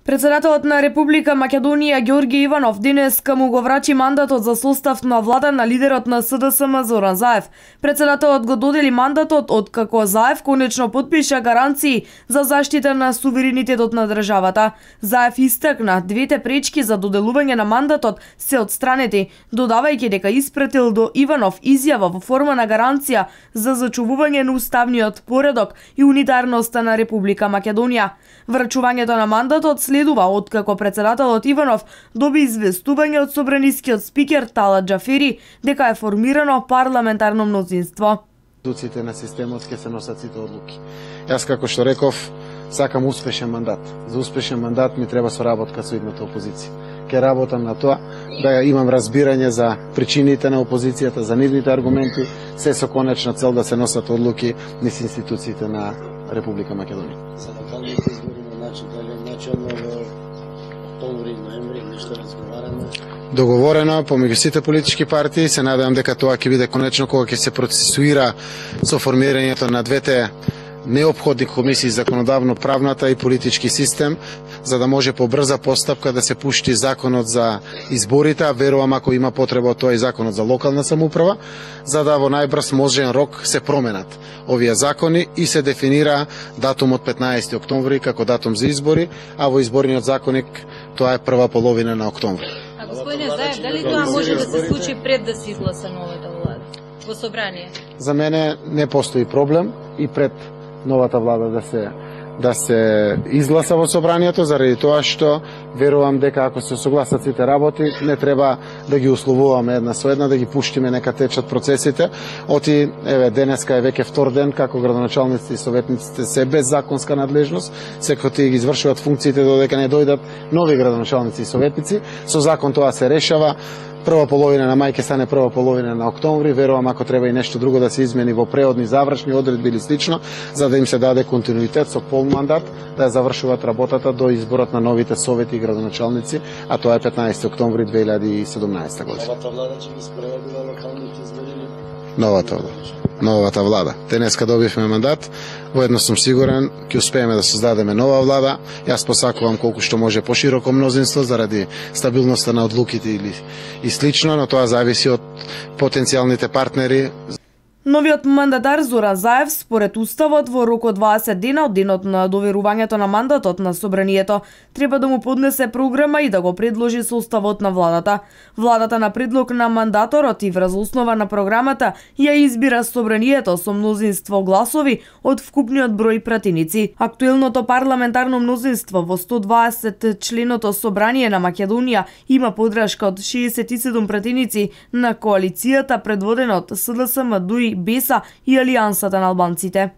Председателот на Република Македонија Ѓорѓе Иванов денеска му го врачи мандатот за состав на влада на лидерот на СДСМ Зоран Заев. Председателот го додели мандатот откако Заев конечно потпиша гаранции за заштита на суверенитетот на државата. Заев истакна двете пречки за доделување на мандатот се отстранети, додавајќи дека испратил до Иванов изјава во форма на гаранција за зачувување на уставниот поредок и унитарноста на Република Македонија. Врачувањето на мандатот следува откако председателот Иванов доби известување од собранискиот спикер Талат Џафери дека е формирано парламентарно мнозинство. Институциите на системот ќе се носат сите одлуки. Јас како што реков, сакам успешен мандат. За успешен мандат ми треба соработка со идната опозиција. Ќе работам на тоа да имам разбирање за причините на опозицијата, за нивните аргументи, се со конечна цел да се носат одлуки низ институциите на Република Македонија. За локалните избори на начално во октомври, ноември, нешто разговарано? Договорено помеѓу сите политички партии, се надевам дека тоа ќе биде конечно кога ќе се процесуира со формирањето на двете неопходни комисии, законодавно-правната и политички систем, за да може по брза постапка да се пушти законот за изборите, а верувам ако има потреба тоа и законот за локална самоуправа, за да во најбрз можен рок се променат овие закони и се дефинира датумот 15 октомври како датум за избори, а во изборниот законник тоа е прва половина на октомври. А господине Заев, дали тоа може да се случи пред да се изгласа новата влада во собрание? За мене не постои проблем и пред новата влада да се изгласа во собранието, заради тоа што верувам дека ако се согласат сите работи, не треба да ги условуваме една со една, да ги пуштиме нека течат процесите. Оти, еве, денеска е веќе втор ден како градоначалниците и советниците се без законска надлежност, секој тие ги извршуваат функциите додека не дојдат нови градоначалници и советници. Со закон тоа се решава. Прва половина на мај ќе стане прва половина на октомври. Верувам ако треба и нешто друго да се измени во преодни завршни одредби или слично, за да им се даде континуитет со пол мандат, да ја завршуваат работата до изборот на новите совети и градоначалници, а тоа е 15 октомври 2017 година. Новата влада ќе ги спроведе на локалните избори? Новата влада. Денеска добивме мандат, воедно сум сигурен ќе успееме да создадеме нова влада. Јас посакувам колку што може пошироко мнозинство заради стабилноста на одлуките и слично, но тоа зависи од потенцијалните партнери. Новиот мандатар Зоран Заев според уставот во рок од 20 дена од денот на доверувањето на мандатот на собранието треба да му поднесе програма и да го предложи составот на владата. Владата на предлог на мандаторот и врз основа на програмата ја избира собранието со мнозинство гласови од вкупниот број пратеници. Актуелното парламентарно мнозинство во 120 членото собрание на Македонија има подршка од 67 пратеници на коалицијата предводена од СДСМ, ДУИ, БЕСА и Алијансата на албанците.